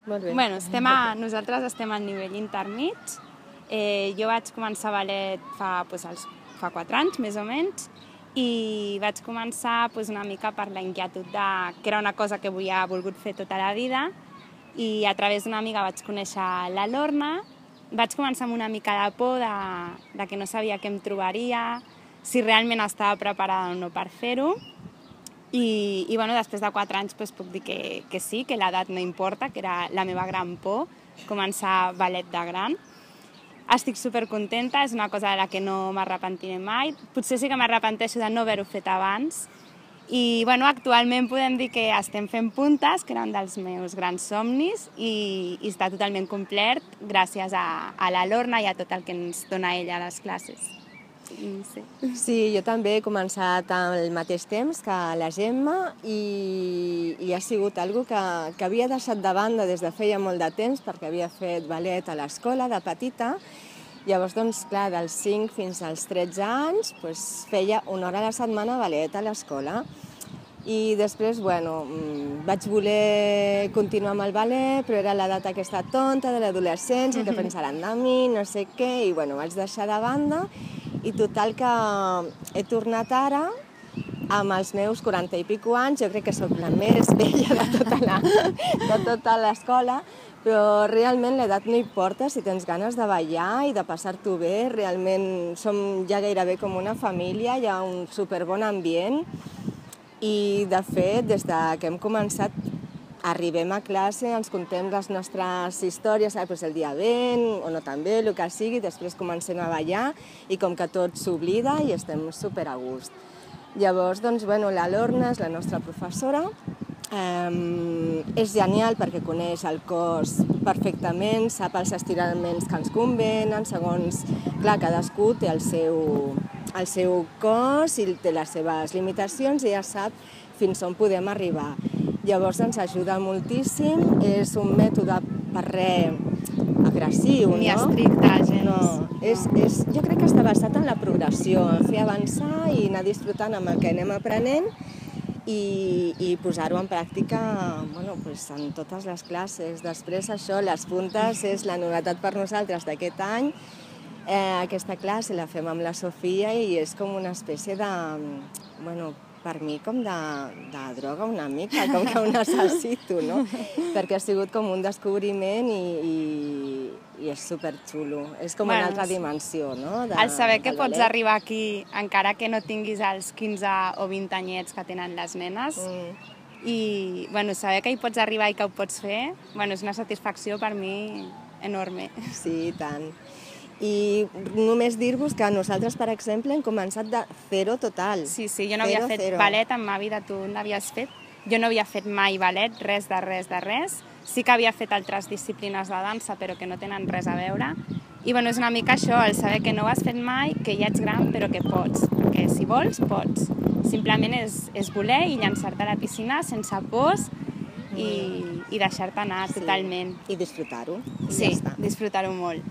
Molt bé. Nosaltres estem al nivell intermig. Jo vaig començar ballet fa 4 anys, més o menys, i vaig començar una mica per la inquietud que era una cosa que havia volgut fer tota la vida, i a través d'una amiga vaig conèixer la Lorna. Vaig començar amb una mica de por de que no sabia què em trobaria, si realment estava preparada o no per fer-ho. I després de 4 anys puc dir que sí, que l'edat no importa, que era la meva gran por, començar ballet de gran. Estic supercontenta, és una cosa de la que no m'arrepentiré mai. Potser sí que m'arrepenteixo de no haver-ho fet abans. I actualment podem dir que estem fent puntes, que era un dels meus grans somnis, i està totalment complert gràcies a la Lorna i a tot el que ens dona ella a les classes. Sí, jo també he començat al mateix temps que la Gemma i ha sigut una cosa que havia deixat de banda des de feia molt de temps perquè havia fet ballet a l'escola de petita. Llavors, clar, dels 5 fins als 13 anys feia 1 hora a la setmana ballet a l'escola. I després, vaig voler continuar amb el ballet, però era l'edat aquesta tonta de l'adolescència, que pensaran de mi, no sé què, i vaig deixar de banda. I total que he tornat ara, amb els meus 40 i pico anys, jo crec que soc la més vella de tota l'escola, però realment l'edat no importa si tens ganes de ballar i de passar-t'ho bé. Realment som ja gairebé com una família, hi ha un superbon ambient i, de fet, des que hem començat, arribem a classe, ens contem les nostres històries, el dia vent o no tan bé, el que sigui, després comencem a ballar i com que tot s'oblida i estem super a gust. Llavors, la Lorna és la nostra professora. És genial perquè coneix el cos perfectament, sap els estiraments que ens convenen, segons, clar, cadascú té el seu cos i té les seves limitacions i ja sap fins on podem arribar. Llavors ens ajuda moltíssim, és un mètode per res agressiu, no? Ni estricte, gens. No, jo crec que està basat en la progressió, en fer avançar i anar disfrutant amb el que anem aprenent i posar-ho en pràctica en totes les classes. Després això, les puntes, és la novetat per nosaltres d'aquest any. Aquesta classe la fem amb la Sofia i és com una espècie de, per mi, com de droga una mica, com que ho necessito, no? Perquè ha sigut com un descobriment i és superxulo. És com una altra dimensió, no? El saber que pots arribar aquí, encara que no tinguis els 15 o 20 anyets que tenen les nenes, i saber que hi pots arribar i que ho pots fer, és una satisfacció per mi enorme. Sí, i tant. I només dir-vos que nosaltres, per exemple, hem començat de zero total. Sí, jo no havia fet ballet en ma vida, tu n'havies fet. Jo no havia fet mai ballet, res de res. Sí que havia fet altres disciplines de dansa, però que no tenen res a veure. I és una mica això, el saber que no ho has fet mai, que ja ets gran, però que pots. Perquè si vols, pots. Simplement és voler i llançar-te a la piscina sense pors i deixar-te anar totalment. I disfrutar-ho. Sí, disfrutar-ho molt.